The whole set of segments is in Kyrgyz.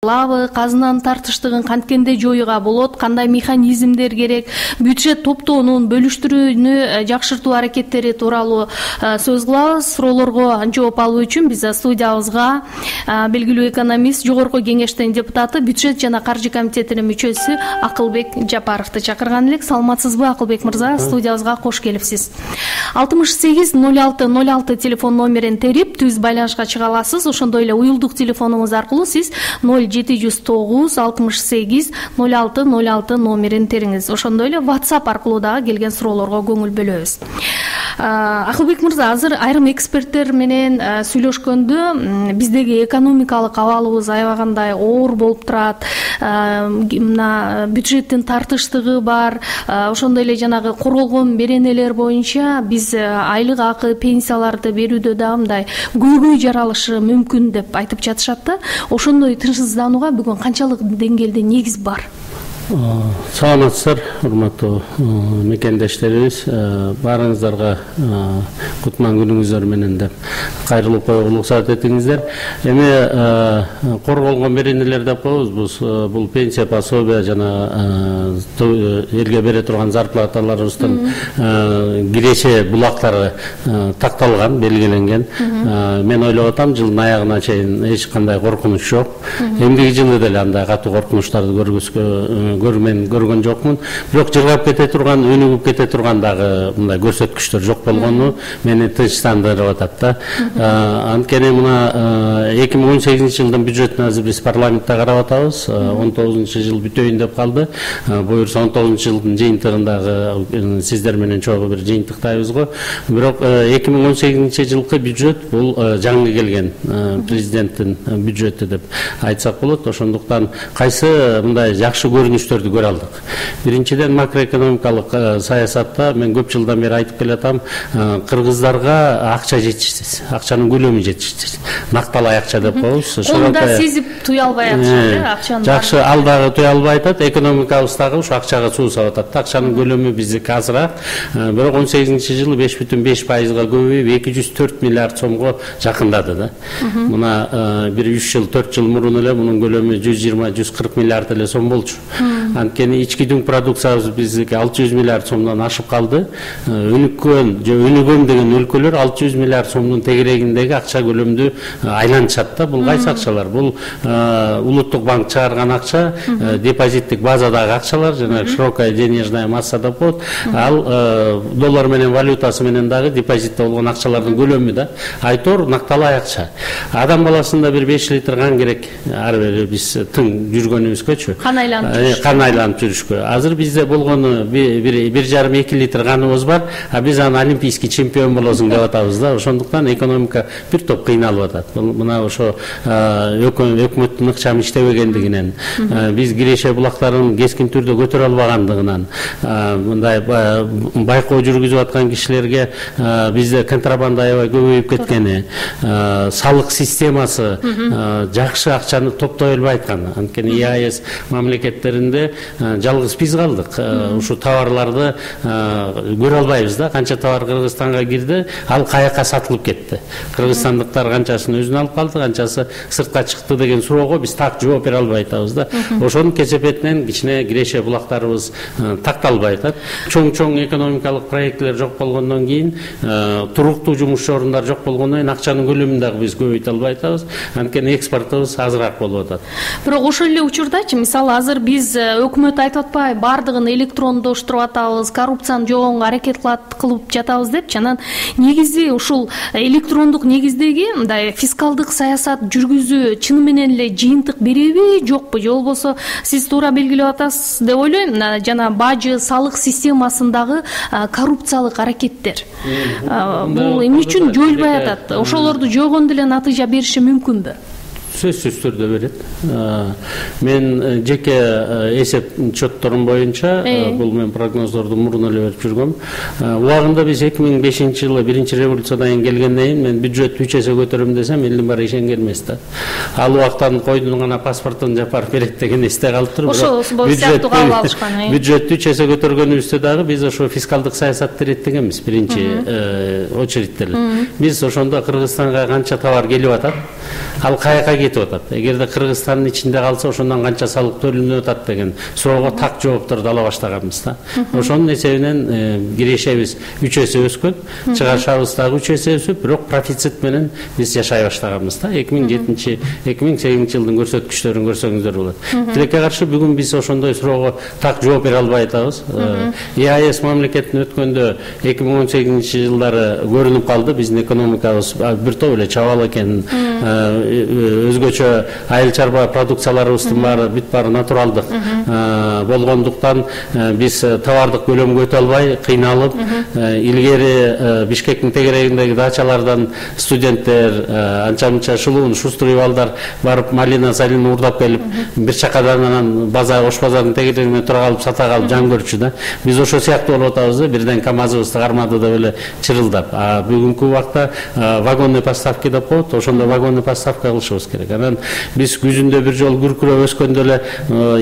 алабы, казынанын тартыштыгын канткенде жоюуга болот, кандай механизмдер керек, бюджет топтоонун бөлүштүрүүнү жакшыртуу аракеттери тууралуу сөз кылабыз. Суроолорго жооп алуу үчүн биз студиябызга белгилүү экономист, жогорку кеңештин депутаты, бюджет жана каржы комитетинин мүчөсү Акылбек Жапаровду чакырган элек. Саламатсызбы, Акылбек мырза? Студиябызга кош келипсиз. 68-06-06 телефон номерин терип түз байланышка чыга аласыз. Ошондой эле уюлдук телефонуңуз аркылуу сиз 0709-66-06-06 номерин териңиз. Ошондой эле WhatsApp аркылуу дагы келген суроолорго көңүл бөлөбүз. Акылбек мырза, азыр айрым эксперттер менен сүйлөшкөндө биздеги экономикалык абалыбыз аябагандай оор болуп турат. Мына бюджеттин тартыштыгы бар. Ошондой эле жанагы корголгон беренелер боюнча биз айлык акы, пенсияларды берүүдө дагы мындай көйгөй жаралышы мүмкүн деп айтып жатышат да. Ошондой тынчсызданууга бүгүн канчалык деңгээлде негиз бар? Саламатсыздар, урматтуу мекендештерибиз. Баарыңыздарга кутман күнүңүздөр менен деп кайрылып коюуга уруксат этиңиздер. Эми корголгон беренелер деп коебуз. Бул пенсия, пособие жана элге бере турган зарплаталарыбыздын киреше булактары такталган, белгиленген. Мен ойлоп атам, жылдын аягына чейин эч кандай коркунуч жок. Эмдиги жылы деле андай катуу коркунучтарды көргөн жокмун. Бирок жыргап кете турган, өнүгүп кете турган дагы мындай көрсөткүчтөр жок болгону мени тынчтандырып атат да. Анткени мына 2018 жылдын бюджетин азыр биз парламентте карап атабыз. 19-жыл бүтөйүн деп калды. Буюрса 19-жылдын жыйынтыгындагы сиздер менен чогуу бир жыйынтыктайбыз го. Бирок 2018 жылкы бюджет бул жаңы келген президенттин бюджети деп айтсак болот. Ошондуктан кайсы мындай жакшы көрүнүштөрдү көрө алдык. Биринчиден, макроэкономикалык саясатта мен көп жылдан бери айтып келатам, кыргыздарга акча жетишсиз, акчанын көлөмү жетишсиз. Накталай акча деп коебуз. Колунда сезип туя албай атышат, акчаны. Жакшы, ал дагы туя албай атат, экономикабыз дагы ушу акчага суу сабап атат. Акчанын көлөмү биздики азыраак. Бирок 18-жылы 5,5%-га көбөйүп 204 миллиард сомго жакындады да. Мына бир 3 жыл, 4 жыл мурун эле мунун көлөмү 120-140 миллиард эле сом болчу. Анткени ички дүң продукциябыз биздики 600 миллиард сомдон ашып калды. Өнүккөн же өнүгөм деген өлкөлөр 600 миллиард сомдун тегерегиндеги акча көлөмдү айланышат да. Бул кайсы акчалар? Бул улуттук банк чыгарган акча, депозиттик базадагы акчалар, жана широкая денежная масса деп коет. Ал доллар менен валютасы менен дагы депозитте болгон акчалардын көлөмү да. Айтор накталай акча. Адам баласында бир 5 литр кан керек. Ар бери биз тың жүргөнүбүзгөчү. Кан айланып жүрүшкө. Азыр бизде болгону 1,5-2 литр каныбыз бар, а биз аны олимпийский чемпион болосуң деп атабыз да. Ошондуктан экономика бир топ кыйналып атат. Мына ошо өкмөттүн ыкчам иштебегендигинен, биз киреше булактарын кескин түрдө көтөрө албагандыгынан, мындай байкоо жүргүзүп аткан кишилерге бизде контрабанда аябай көбөйүп кеткени, салык системасы жакшы акчаны топтой албай аткан. Анткени ЕАЭС мамлекеттеринде жалгыз биз калдык. Ушу товарларды көрө албайбыз да. Канча товар Кыргызстанга кирди, ал каяка сатылып кетти. Кыргызстандыктар канчасын өзүнө алып калды, канчасы сыртка чыкты деген суроого биз так жооп бере албай атабыз да. Ошонун кесепетинен кичине киреше булактарыбыз такталбай атат. Чоң экономикалык проекттер жок болгондон кийин, туруктуу жумуш орундар жок болгондон кийин акчанын көлөмүн дагы биз көбөйтө албай атабыз. Анткени экспортубуз азыраак болуп атат. Бирок ошол эле учурдачы, мисалы азыр биз өкмөт айтып атпайбы, бардыгын электрондоштуруп атабыз, коррупцияны жогоого аракет кылып жатабыз деп. Анан негизи ушул электрондук негиздеги мындай фискалдык саясат жүргүзүү чын менен эле жыйынтык береби, жокпу? Же болбосо сиз туура белгилеп атасыз деп ойлойм. Жана бажы, салык системасындагы коррупциялык аракеттер бул эмне үчүн жоюлбай атат? Ошолорду жойгондо эле натыйжа бериши мүмкүнбү? Сөзсүз түрдө берет. Мен жеке эсеп чотторум боюнча бул мен прогноздорду мурун эле берип жүргөм. Убагында биз 2005 жылы биринчи революциядан кийин келгенден кийин мен бюджет 3 эсе көтөрөм десем, элдин баары ишенген эмес да. Ал убактан койдун гана паспортун жапарып берет деген эсте калып туруп. Ошол сыяктуу кабыл алышкан. Бюджет 3 эсе көтөргөнүбүздө дагы биз ошо фискалдык саясатты иреттегенбиз биринчи очередте эле. Биз ошондо Кыргызстанга канча товар келип атат, ал каяка кетип атат. Эгерде Кыргызстандын ичинде калса ошондон канча салык төлөнүп атат деген суроого так жоопторду ала баштаганбыз да. Ошонун эсебинен кирешебиз 3 эсе өскөн, чыгарышыбыз дагы 3 эсе өсүп, бирок профицит менен биз жашай баштаганбыз да. 2007-2008 жылдын көрсөткүчтөрүн көрсөңүздөр болот. Тилекке каршы бүгүн биз ошондой суроого так жооп бере албай атабыз. ЕАЭС мамлекетине өткөндө 2018 жылдары көрүнүп калды, биздин экономикабыз бир топ эле чабал экен, өзгөчө айыл чарба продукцияларыбыздын баары бүт баары натуралдык болгондуктан биз товардык көлөмгө өтө албай кыйналып, илгери Бишкектин тегерегиндеги дачалардан студенттер анча-мынча шулуун шустрый балдар барып малина салина уурдап келип, бир чакадан анан Ош базардын тегерегине тура калып сата калып жан көрчү да. Биз ошо сыяктуу болуп атабыз да, бирден КАМАЗыбызды кармады деп эле чырылдап. Бүгүнкү убакта вагонный поставки деп коет, ошондо вагонный поставка кылышыбыз керек. Анан биз күзүндө бир жолу күркүрөп өскөндө эле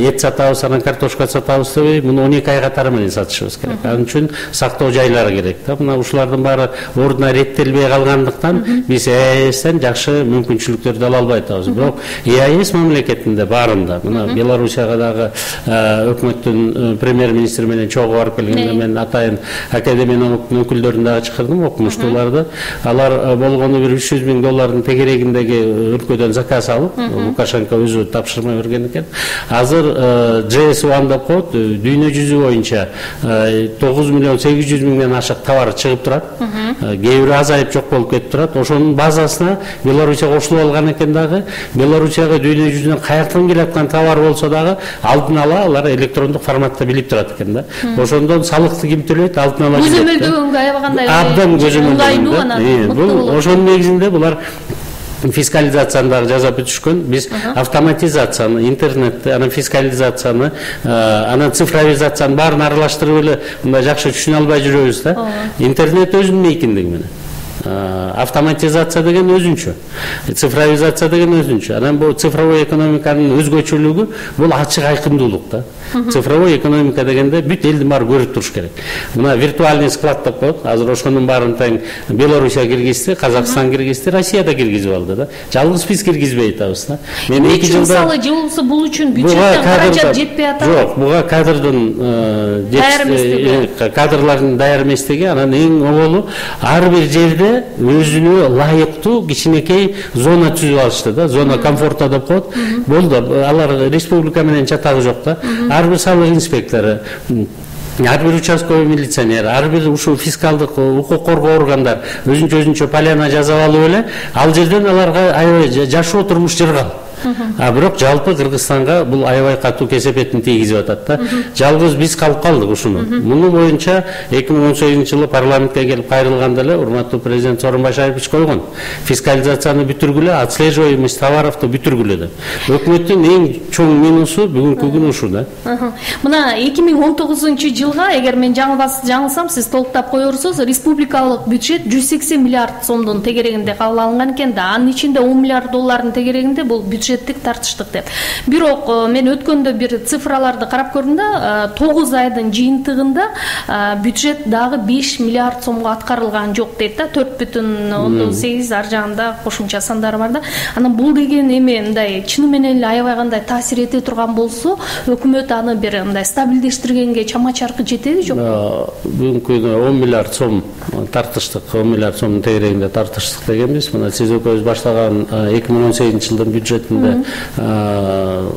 эт сатабыз, анан картошка сатабыз дебей, муну 12 ай катары менен сатышыбыз керек. Анын үчүн сактоо жайлары керек да. Мына ушулардын баары ордуна реттелбей калгандыктан биз ЕАЭСтен жакшы мүмкүнчүлүктөрдү ала албай атабыз. Бирок ЕАЭС мамлекетинде баарында, мына Белоруссияга дагы өкмөттүн премьер-министри менен чогуу барып келгенде мен атайын академиянын өкүлдөрүн дагы чакырдым, окумуштууларды. Алар болгону бир $300,000 тегерегиндеги өлкөдөн заказ алып, Лукашенко өзү тапшырма берген экен. Азыр JS1 деп коет, дүйнө жүзү боюнча 9,8 ашык товар чыгып турат. Кээ бири азайып жок болуп кетип турат. Ошонун базасына Белоруссия кошулуп алган экен дагы. Белоруссияга дүйнө жүзүнөн каяктан келаткан товар болсо дагы алдын ала алар электрондук форматта билип турат экен да. Ошондон салыкты ким төлөйт, алдын ала көзөмөлдөгөнгө аябагандай абдан көзөмөлдөгөн. Бул ошонун негизинде булар фискализацияны дагы жасап бүтүшкөн. Биз автоматизацияны, интернетти, анан фискализацияны, анан цифровизацияны баарын аралаштырып эле мындай жакшы түшүнө албай жүрөбүз да. Интернет өзүнүн эркиндиги менен. Автоматизация деген өзүнчө, цифровизация деген өзүнчө. Анан бул цифровой экономиканын өзгөчөлүгү бул ачык айкындуулук да. Цифровой экономика дегенде бүт элдин баары көрүп туруш керек. Мына виртуальный склад деп коет. Азыр ошонун баарын тең Белоруссия киргизди, Казакстан киргизди, Россия да киргизип алды да. Жалгыз биз киргизбей атабыз да. Мен 2 жылда мисалы же болбосо бул үчүн бюджеттен каражат жетпей атабы? Жок, буга кадрлардын даяр эместиги, анан эң оболу ар бир жерде өзүнө ылайыктуу кичинекей зона түзүп алышты да, зона комфорта деп коет. Болду, алар республика менен чатагы жок да. Ар бир салык инспектору, ар бир участковый милиционер, ар бир ушул фискалдык укук коргоо органдар өзүнчө поляна жасап алып эле, ал жерден аларга аябай жашоо турмуш жыргал. Бирок жалпы Кыргызстанга бул аябай катуу кесепетин тийгизип атат да. Жалгыз биз калып калдык ушуну. Муну боюнча 2018 жылы парламентке келип кайрылганда эле урматтуу президент Сооронбай Шарипович койгон. Фискализацияны бүтүргүлө, отслеживаемость товаровду бүтүргүлө деп. Өкмөттүн эң чоң минусу бүгүнкү күн ушу да. Мына 2019 жылга, эгер мен жаңылсам, сиз толуктап коерсуз, республикалык бюджет 180 миллиард сомдун тегерегинде кабыл алынган экен да. Анын ичинде 10 миллиард доллардын тегерегинде бул бюджеттик тартыштык деп. Бирок мен өткөндө бир цифраларды карап көрдүм да, 9 айдын жыйынтыгында бюджет дагы 5 миллиард сомго аткарылган жок дейт да, 4,8 ар жагында кошумча сандар бар да. Анан бул деген эме мындай чыны менен эле аябай кандай таасир эте турган болсо, өкмөт аны бир мындай стабилдештиргенге чама-чаркы жетеби жокпу? Бүгүнкү 10 миллиард сом тартыштык, 10 миллиард сомдун тегерегинде тартыштык дегенбиз. Мына сиз экөөбүз баштаган 2018 жылдын бюджетинде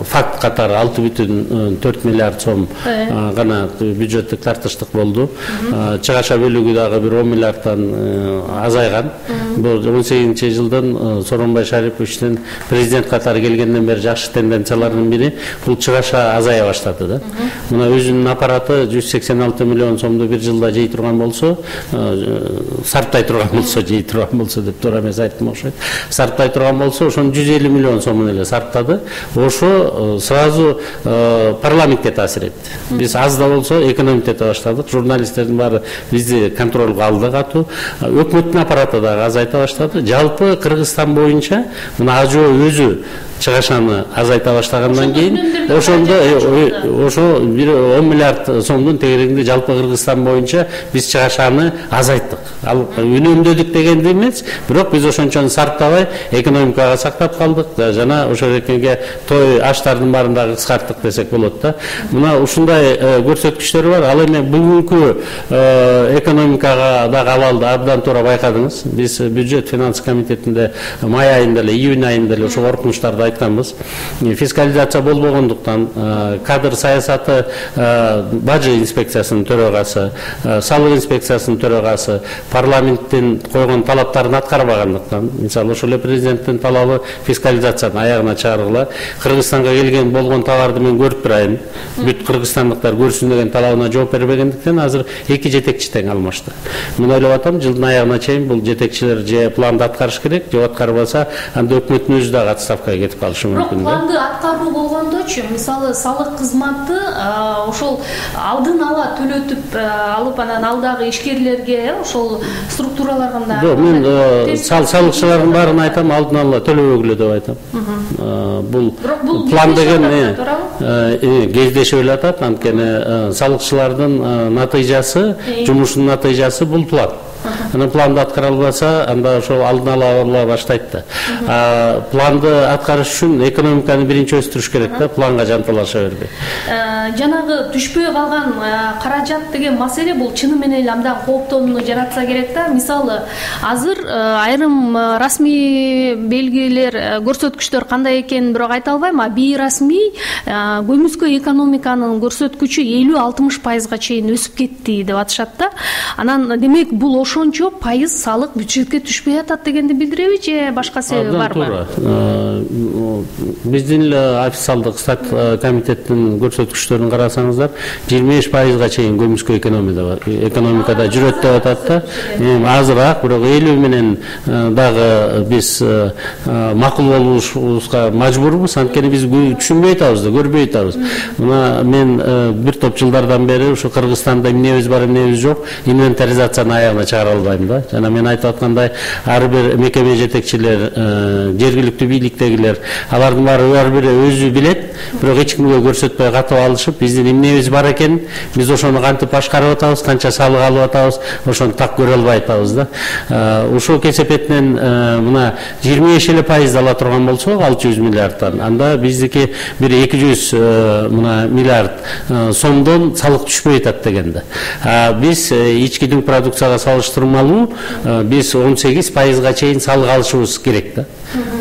факт катары 6,4 миллиард сом гана бюджеттик тартыштык болду. Чыгаша бөлүгү дагы бир 10 миллиардтан азайган. Бул 18 жылдан Сооронбай Шариповичтин президент катары келгенден бери жакшы тенденциялардын бири бул чыгаша азая баштады да. Мына өзүнүн аппараты 186 миллион сомду бир жылда жей турган болсо, сарптай турган болсо, жей турган болсо деп туура эмес айттым окшойт. Сарптай турган болсо, ошону 150 миллион сомун эле сарптады. Ошо сразу парламентке таасир этти. Биз аз да болсо экономить эте баштадык. Журналисттердин баары бизди контролго алды катуу. Өкмөттүн аппараты дагы азайта баштады. Жалпы Кыргызстан боюнча мына АЖО өзү чыгашаны азайта баштаган баштагандан кийин ошо бир 10 миллиард сомдун тегерегинде жалпы Кыргызстан боюнча биз чыгашаны азайттык. Ал үнөмдөдүк дегенди эмес, бирок биз ошончону сарптабай экономикага сактап калдык. Жана ошол экенге той аштардын баарын дагы кыскарттык десек болот да. Мына ушундай көрсөткүчтөр бар. Ал эми бүгүнкү экономикага дагы абалды абдан туура байкадыңыз. Биз бюджет финанс комитетинде май айында эле, июнь айында эле ошо коркунучтарды айтканбыз. Фискализация болбогондуктан кадр саясаты бажы инспекциясынын төрагасы, салык инспекциясынын төрагасы парламенттин койгон талаптарын аткарбагандыктан, мисалы ошол эле президенттин талабы фискализацияны аягына чыгаргыла. Кыргызстанга келген болгон товарды мен көрүп турайын, бүт кыргызстандыктар көрсүн деген талабына жооп бербегендиктен азыр эки жетекчи тең алмашты. Мен ойлоп атам, жылдын аягына чейин бул жетекчилер же планды аткарыш керек, же аткарбаса анда өкмөттүн өзү дагы отставкага кетип калышы мүмкүн. Планды аткаруу болгондочу, мисалы салык кызматы ошол алдын ала төлөтүп алып анан алдагы ишкерлерге ошол структураларга жок, мен салыкчылардын баарын айтам, алдын ала төлөбөгүлө деп айтам. Бул план деген кездешип эле атат, анткени салыкчылардын натыйжасы, жумушунун натыйжасы бул план. Анан планды аткара албаса, анда ошол алдын ала баштайт да. Планды аткарыш үчүн экономиканы биринчи өстүрүш керек да, планга жанталаша бербей. Жанагы түшпөй калган каражат деген маселе бул чыны менен эле абдан кооптонууну жаратса керек да. Мисалы, азыр айрым расмий белгилер, көрсөткүчтөр кандай экенин бирок айта албайм, а бейрасмий көмүскө экономиканын көрсөткүчү 50-60% чейин өсүп кетти деп атышат да. Анан демек бул ошончо пайыз салык бюджетке түшпөй атат дегенди билдиреби же башка себеби барбы? Биздин эле официалдык стат комитеттин көрсөткүчтөрүн карасаңыздар, 25%га чейин көмүскө экономикада жүрөт деп атат да. Азыраак, бирок 50 менен дагы биз макул болушубузга мажбурбуз, анткени биз түшүнбөй атабыз да, көрбөй атабыз. Мына мен бир топ жылдардан бери ушу Кыргызстанда эмнебиз бар, эмнебиз жок, инвентаризацияны аягына чыгара албайм да. Жана мен айтып аткандай, ар бир мекеме жетекчилер, жергиликтүү бийликтегилер, алардын ар бири өзү билет, бирок эч кимге көрсөтпөй катып алышып, биздин эмнебиз бар экен, биз ошону кантип башкарып атабыз, канча салык алып атабыз, ошону так көрө албай атабыз да. Ушул кесепетинен мына 25 эле пайыз ала турган болсок, 600 миллиардтан, анда биздики бир 200 миллиард сомдон салык түшпөй атат дегенде. Биз ички дүң продукцияга салыштырмалуу биз 18%га чейин салык алышыбыз керек да.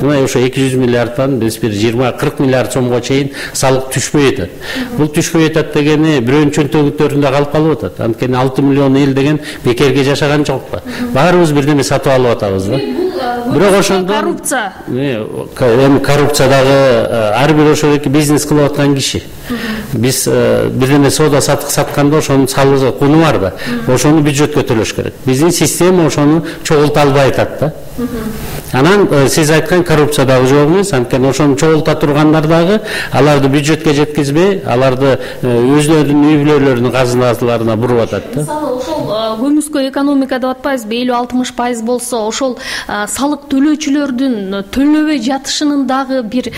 Мына ошо 200 миллиардтан биз бир 20-40 миллиард сомго чейин салык түшпөй атат. Бул түшпөй атат дегени бирөөнүн чөнтөгүттөрүндө калып атат. Анткени 6 миллион эл деген бекерге жашаган жок да. Баарыбыз бирдеме сатып алып атабыз да. Бирок ошондо коррупция. Эми коррупция дагы ар бир ошол бизнес кылып аткан киши. Биз бирдеме соода сатык сатканда ошонун салыгы куну бар да. Ошону бюджетке төлөш керек. Биздин система ошону чогулта албай атат да. Анан сиз айткан коррупция дагы жок эмес, анткени ошону чогулта тургандар дагы аларды бюджетке жеткизбей, аларды өзлөрүнүн үй бүлөлөрүнүн казыналарына буруп атат да. Мисалы, ошол көмүскө экономика деп атпайбызбы, 50-60% болсо, ошол салык төлөөчүлөрдүн төлөбөй жатышынын дагы бир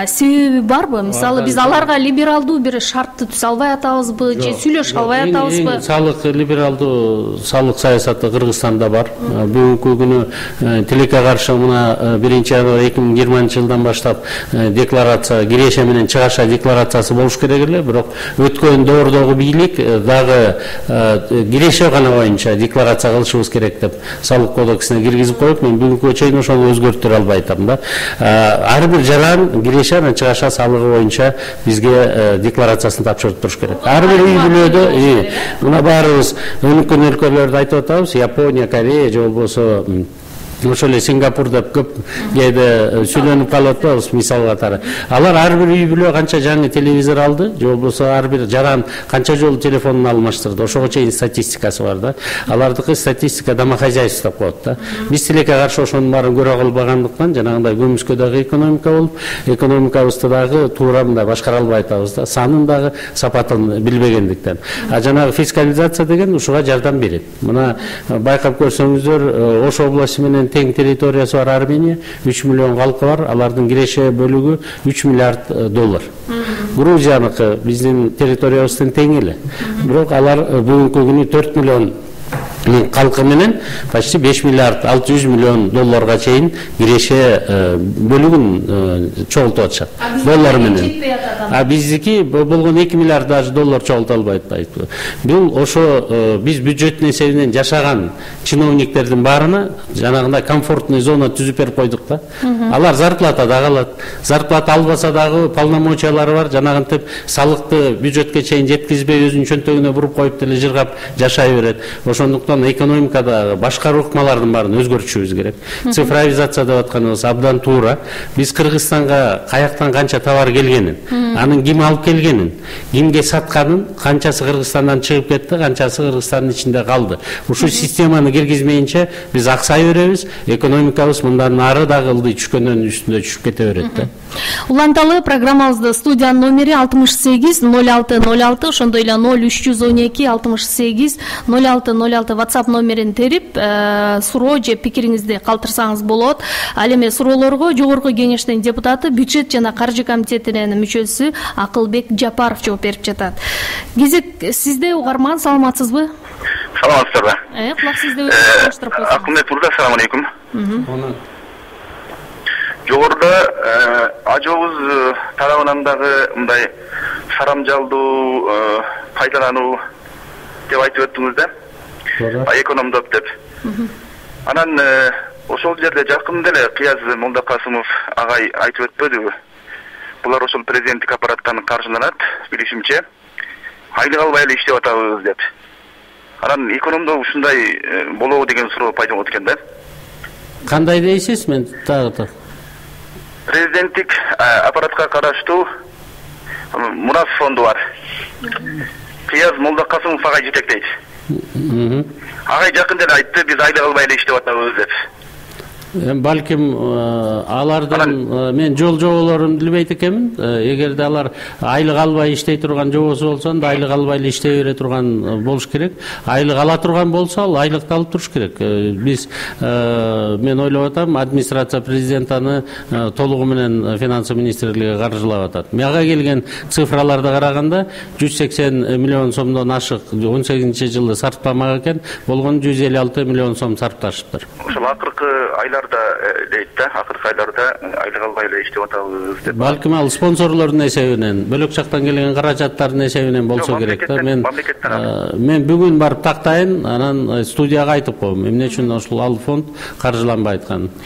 себеби барбы? Мисалы, биз аларга либералдуу бир шартты түзө албай атабызбы же сүйлөшө албай атабызбы? Салык либералдуу салык саясаты Кыргызстанда бар. Бүгүнкү күнү тилекке каршы мына 1-январь 2020 жылдан баштап декларация, киреше менен чыгаша декларациясы болуш керек эле, бирок өткөн доордогу бийлик дагы киреше гана боюнча декларация кылышыбыз керек деп салык кодексине киргизип коюп, мен бүгүнкү чейин ошону өзгөртүрө албай атам да. Ар бир жаран киреше менен чыгаша салыгы боюнча бизге декларациясын тапшырып туруш керек. Ар бир үй бүлөдө мына баарыбыз өнүккөн өлкөлөрдү айтып атабыз, Япония, Корея же болбосо ошол эле Сингапур деп көп кээде сүйлөнүп калып атабыз мисал катары. Алар ар бир үй бүлө канча жаңы телевизор алды, же болбосо ар бир жаран канча жолу телефонун алмаштырды. Ошого чейин статистикасы бар да. Алардыкы статистика домохозяйство деп коет да. Биз тилекке каршы ошонун баарын көрө албагандыктан жанагындай көмүскө дагы экономика болуп, экономикабызды дагы туура мындай башкара албай атабыз да. Санын дагы сапатын билбегендиктен. Жанагы фискализация деген ушуга жардам берет. Мына байкап көрсөңүздөр, Ош областы менен тең территориясы бар Армения, 3 миллион халкы бар, алардын киреше бөлүгү 3 миллиард доллар. Грузияныкы биздин территориябыздын тең эле. Бирок алар бүгүнкү күнү 4 миллион халкы менен почти 5 миллиард 600 миллион долларга чейин киреше бөлүгүн чогултуп атышат доллар менен. А биздики болгон 2 миллиард даже доллар чогулта албайт. Бул ошо биз бюджеттин эсебинен жашаган чиновниктердин баарына жанагындай комфортный зона түзүп берип койдук да. Алар зарплата дагы алат. Зарплата албаса дагы полномочиялары бар. Жанагынтип салыкты бюджетке чейин жеткизбей өзүнүн чөнтөгүнө буруп коюп деле жыргап жашай берет. Ошондуктан экономикада башкаруу ыкмалардын баарын өзгөртүшүбүз керек. Цифровизация деп атканыбыз абдан туура. Биз Кыргызстанга каяктан канча товар келгенин, анын ким алып келгенин, кимге сатканын, канчасы Кыргызстандан чыгып кетти, канчасы Кыргызстандын ичинде калды. Ушул системаны киргизмейинче биз аксай беребиз, экономикабыз мындан ары дагы ылдый түшкөндөн үстүндө түшүп кете берет да. Уланталы программабызды студиянын номери 68 06 06, ошондой эле 0312 68 06 06 WhatsApp номерин терип суроо же пикириңизди калтырсаңыз болот. Ал эми суроолорго жогорку кеңештин депутаты, бюджет жана каржы комитетинин мүчөсү Акылбек Жапаров жооп берип жатат. Кезек сизде, угарман, саламатсызбы? Саламатсыздарбы? Кулак сизде өчүрүп койсоңуз. Акылбек мырза, assalamu алейкум. Жогоруда ажообуз тарабынан дагы мындай сарамжалдуу пайдалануу деп айтып өттүңүз да. Экономдоп деп. Анан ошол жерде жакын деле Кыяз Молдокасымов агай айтып өтпөдүбү? Булар ошол президенттик аппараттан каржыланат, билишимче. Айлык албай эле иштеп атабыз деп. Анан экономдоо ушундай болобу деген суроо пайда болот экен да. Кандай дейсиз? Мен дагы президенттик аппаратка караштуу Мурас фонду бар. Кыяз Молдокасымов агай жетектейт. Агай жакын деле айтты, биз айлык албай эле иштеп атабыз деп. Балким алардын мен жол жоболорун билбейт экенмин. Эгерде алар айлык албай иштей турган жобосу болсо, анда айлык албай эле иштей бере турган болуш керек. Айлык ала турган болсо, ал айлыкты алып туруш керек. Биз мен ойлоп атам, администрация президент аны толугу менен финансы министрлиги каржылап атат. Мага келген цифраларды караганда 180 миллион сомдон ашык 18-жылы сарптамак экен, болгон 156 миллион сом сарпташыптыр. Ошол акыркы айларда дейт да, акыркы айларда айлык албай эле иштеп атабыз деп. Балким ал спонсорлордун эсебинен, бөлөк жактан келген каражаттардын эсебинен болсо керек да. Мен бүгүн барып тактайын, анан студияга айтып коем эмне үчүн ошол ал фонд каржыланбай атканын.